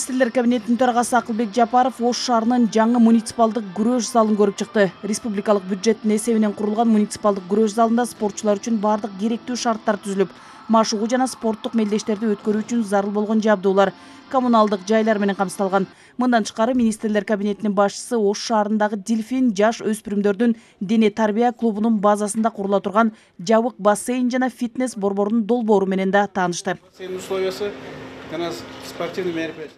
Министрлер кабинетинин төрагасы Акылбек Жапаров Ош шаарынын жаңы муниципалдык күрөш залын көрүп чыкты. Республикалык бюджеттин эсебинен курулган муниципалдык күрөш залында спортчулар үчүн бардык керектүү шарттар түзүлүп, машыгуу жана спорттук мелдештерди өткөрүү үчүн зарыл болгон жабдуулар, коммуналдык жайлар менен камсыздалган. Мындан тышкары Министрлер кабинетинин башчысы Ош шаарындагы Дельфин жаш өспүрүмдөрдүн дене тарбия клубунун базасында курула турган жабык бассейн жана фитнес борборунун долбоору менен да таанышты.